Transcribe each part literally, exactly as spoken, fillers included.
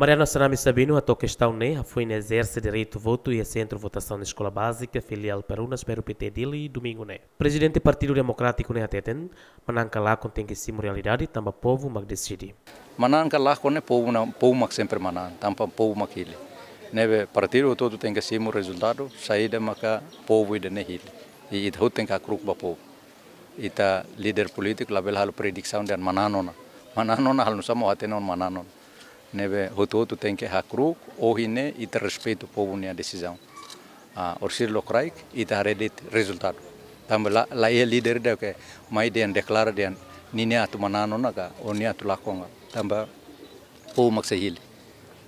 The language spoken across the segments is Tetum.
Mariano Assanami Sabino hato'o kestaun ne'e hafoin ezerse direitu votu iha sentru votasaun Eskola Bázika Filiál Perunas Peru Pité Dili, domingu ne'e. Prezidente Partidu Demokrátiku ne'e hateten, manán ka lakon tenke simu realidade, tanba povu mak deside. Manán ka lakon ne'e povu na, povu mak sempre manán, tanba povu mak hili. Ne'ebé partidu hotu-hotu tenke simu rezultadu, saida maka povu ida-ne'e hili. I ita hotu tenke hakru'uk ba povu. Ita líder polítiku labele halo predisaun dehan manán ona. Manán ona halo nusá mak hatene ona manán ona. Ne'ebé hotu-hotu tenke hakru'uk, ohin ne'e ita respeitu povu nia desizaun. Ah, orsida lokraik, ita haree de'it rezultadu. Tanba la, la iha líder ida ke mai dehan deklara dehan ninia atu manán ona ka, ou nia atu lakon ona. Tanba povu mak sei hili.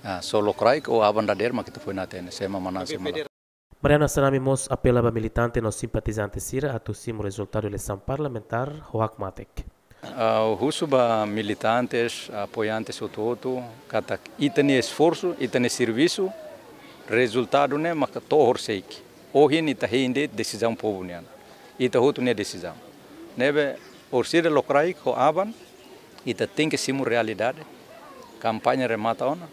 Ah, só lokraik ou aban dadeer mak ita foin hatene, sé mak manán, sé mak lakon. Mariano Assanami mós apela ba militante no simpatizante sira atu simu rezultadu eleisaun parlamentár ho hakmatek. Ah, husu ba militantes, apoiantes hotu-hotu, katak ita-nia esforsu, ita-nia servisu, rezultadu ne'e maka to'o horiseik. Ohin ita hein de'it desizaun povu nian. Ita hotu nia desizaun. Ne'ebé orsida lokraik ho aban, ita tenke simu realidade. Kampaña remata ona.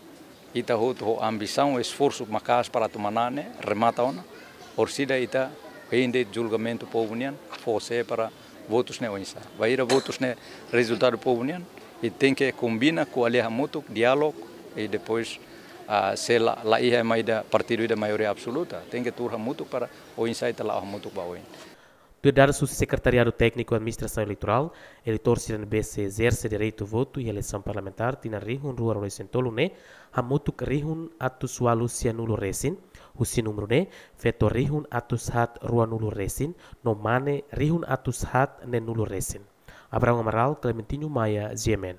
Ita hotu ho ambisaun, esforsu maka'as para atu manán ne'e remata ona. Orsida ita hein de'it julgamentu povu nian, fó sé para votus ne'e oinsá. Bainhira votus ne'e rezultadu povu nian, ita tenke kombina, ko'alia hamutuk, diálogu, i depois, ah, se la, la iha ema ida partidu ida maioria absoluta, tenke tuur hamutuk para oinsá ita la'o hamutuk ba oin. Tuir dadus husi Sekretariadu Tékniku Administrasaun Eleitorál, eleitór sira ne'ebé sei ezerse direitu votu iha eleisaun parlamentár tinan rihun rua ruanulu-resin-tolu ne'e hamutuk rihun atus ualu sianulu resin, husi númeru ne'e feto rihun atus haat ruanulu resin, no mane rihun atus haat neenulu resin. Abraão Amaral, Clementinho Maia, G M N.